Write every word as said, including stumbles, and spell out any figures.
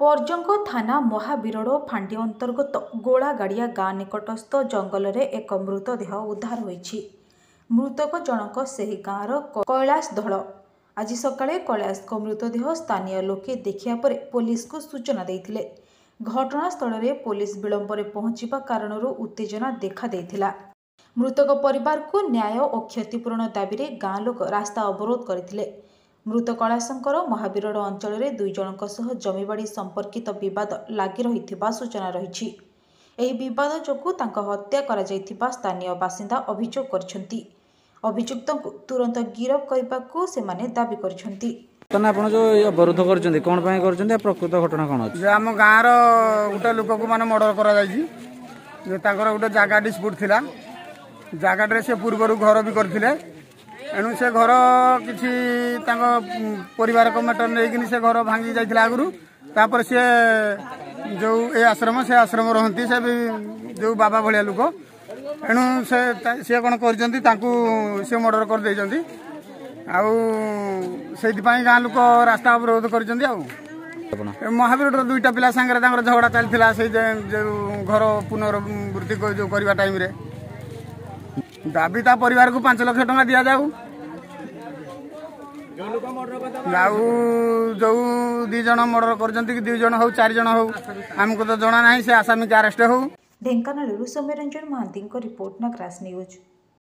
ପର୍ଜଙ୍ଗ ଥାନା ମହାବିରୋଡ଼ ଫାଣ୍ଡି ଅନ୍ତର୍ଗତ ଗୋଳାଗାଡ଼ିଆ ଗାଁ ନିକଟସ୍ଥ ଜଙ୍ଗଲରେ ଏକ ମୃତଦେହ ଉଦ୍ଧାର ହୋଇଛି। ମୃତକ ଜଣକ ସେହି ଗାଁର କୈଳାସ ଧଳ। ଆଜି ସକାଳେ କୈଳାସଙ୍କ ମୃତଦେହ ସ୍ଥାନୀୟ ଲୋକେ ଦେଖିବା ପରେ ପୋଲିସକୁ ସୂଚନା ଦେଇଥିଲେ। ଘଟଣାସ୍ଥଳରେ ପୋଲିସ ବିଳମ୍ବରେ ପହଞ୍ଚିବା କାରଣରୁ ଉତ୍ତେଜନା ଦେଖାଦେଇଥିଲା। ମୃତକ ପରିବାରକୁ ନ୍ୟାୟ ଓ କ୍ଷତିପୂରଣ ଦାବିରେ ଗାଁ ଲୋକ ରାସ୍ତା ଅବରୋଧ କରିଥିଲେ। ମୃତ କୈଳାସଙ୍କର ମହାବିରୋଡ଼ ଅଞ୍ଚଳରେ ଦୁଇ ଜଣଙ୍କ ସହ ଜମିବାଡ଼ି ସମ୍ପର୍କିତ ବିବାଦ ଲାଗି ରହିଥିବା ସୂଚନା ରହିଛି। ଏହି ବିବାଦ ଯୋଗୁଁ ତାଙ୍କ ହତ୍ୟା କରାଯାଇଥିବା ସ୍ଥାନୀୟ ବାସିନ୍ଦା ଅଭିଯୋଗ କରିଛନ୍ତି। ଅଭିଯୁକ୍ତଙ୍କୁ ତୁରନ୍ତ ଗିରଫ କରିବାକୁ ସେମାନେ ଦାବି କରିଛନ୍ତି। ବର୍ତ୍ତମାନ ଆପଣ ଯୋଉ ଏଇ ଅବରୋଧ କରିଛନ୍ତି, କ'ଣ ପାଇଁ କରିଛନ୍ତି ଆଉ ପ୍ରକୃତ ଘଟଣା କ'ଣ ଅଛି? ଯେ ଆମ ଗାଁର ଗୋଟେ ଲୋକକୁ ମାନେ ମର୍ଡର କରାଯାଇଛି, ଯେ ତାଙ୍କର ଗୋଟେ ଜାଗା ଡିସ୍ପ୍ୟୁଟ୍ ଥିଲା। ଜାଗାଟାରେ ସେ ପୂର୍ବରୁ ଘର ବି କରିଥିଲେ। ଏଣୁ ସେ ଘର କିଛି ତାଙ୍କ ପରିବାରକ ମ୍ୟାଟର ନେଇକିନି ସେ ଘର ଭାଙ୍ଗି ଯାଇଥିଲା ଆଗରୁ। ତାପରେ ସିଏ ଯୋଉ ଏ ଆଶ୍ରମ ସେ ଆଶ୍ରମ ରହନ୍ତି, ସେ ବି ଯୋଉ ବାବା ଭଳିଆ ଲୋକ। ଏଣୁ ସେ ସିଏ କ'ଣ କରିଛନ୍ତି, ତାଙ୍କୁ ସେ ମର୍ଡର କରିଦେଇଛନ୍ତି। ଆଉ ସେଇଥିପାଇଁ ଗାଁ ଲୋକ ରାସ୍ତା ଅବରୋଧ କରିଛନ୍ତି। ଆଉ ଆପଣ ମହାବୀରର ଦୁଇଟା ପିଲା ସାଙ୍ଗରେ ତାଙ୍କର ଝଗଡ଼ା ଚାଲିଥିଲା, ସେଇ ଯୋଉ ଘର ପୁନରାବୃତ୍ତି ଯୋଉ କରିବା ଟାଇମରେ। ଦାବି, ତା ପରିବାରକୁ ପାଞ୍ଚ ଲକ୍ଷ ଟଙ୍କା ଦିଆଯାଉ, ଆଉ ଯୋଉ ଦି ଜଣ ମର୍ଡର କରିଛନ୍ତି କି ଦୁଇ ଜଣ ହଉ, ଚାରି ଜଣ ହଉ, ଆମକୁ ତ ଜଣା ନାହିଁ, ସେ ଆସାମୀକି ଆରେଷ୍ଟ ହଉ। ଢେଙ୍କାନାଳରୁ ସୌମ୍ୟରଞ୍ଜନ ମହାନ୍ତିଙ୍କ ରିପୋର୍ଟ, ନଗରାଜ ନ୍ୟୁଜ୍।